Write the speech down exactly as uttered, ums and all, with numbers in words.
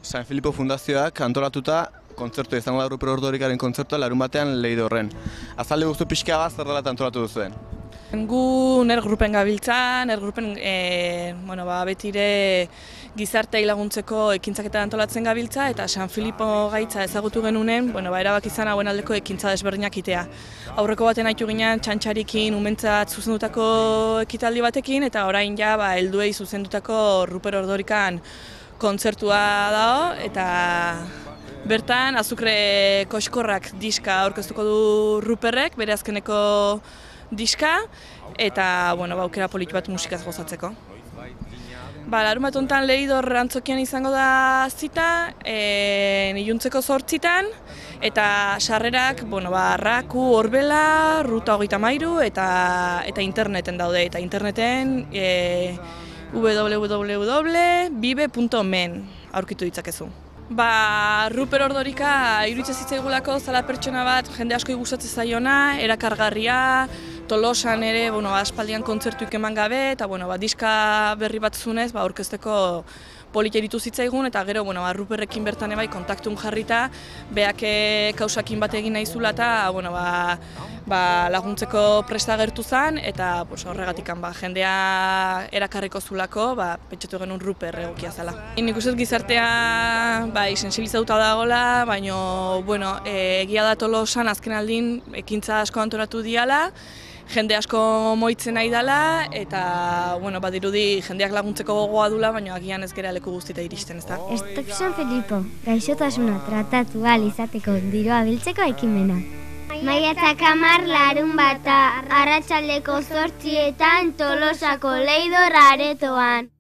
San Filipo Fundazioak antolatuta kontzertu izango da Ruper Ordorikaren kontzertua larun batean Leidorren. Azalde guztu pixka bat zer dela antolatu duzuen? Gu ner grupen gabiltza, ner grupen e, bueno, ba, betire gizartei laguntzeko ekintzaketa antolatzen gabiltza eta San Filipo gaitza ezagutu genunen, bueno, ba, erabak izan hauen aldeko ekintza desberdinak itea. Aurreko baten haitu ginen txantxarikin umentzat zuzendutako ekitaldi batekin eta orain ja ba, helduei zuzendutako Ruper Ordorikan kontzertua dago eta bertan azukre koxkorrak diska aurkeztuko du Ruperrek, bere azkeneko diska, eta bueno, ba, aukera politu bat musikaz gozatzeko. Ba, larun bat honetan Leidor antzokian izango da zita, e, iluntzeko zortzitan, eta sarrerak, bueno, ba, Raku, Orbela, Ruta hogeita hamairu eta, eta interneten daude, eta interneten e, w w w punto bibe punto men aurkitu ditzakezu. Ba, Ruper Ordorika iruditzen zitzaigulako zala pertsona bat jende asko gustatzen zaiona, erakargarria, Tolosan ere, bueno, aspaldian kontzertuik eman gabe eta bueno, ba, diska berri bat zunez, ba, aurkezteko polita iritu zitzaigun eta gero bueno, ba, Ruperrekin bertan ebai kontaktun jarrita, beak kausakin bat egin nahi zula eta bueno, ba, ba, laguntzeko presta agertu zen eta pues, horregatik ba, jendea erakarriko zulako, ba, pentsatu genuen Ruper egokia zela. Nik uste gizartea bai, sensibilizatuta dagoela, baina bueno, e, egia da Tolosan azken aldin ekintza asko antolatu diala, jende asko moitzen nahi dela eta bueno, badirudi jendeak laguntzeko gogoa dula, baina agian ez gera leku guztita iristen, ezta? Stop San Filipo, gaixotasuna tratatu ahal izateko diroa biltzeko ekimena. Maiatzak hamar larun bata, arratsaldeko zortzietan Tolosako Leidor aretoan.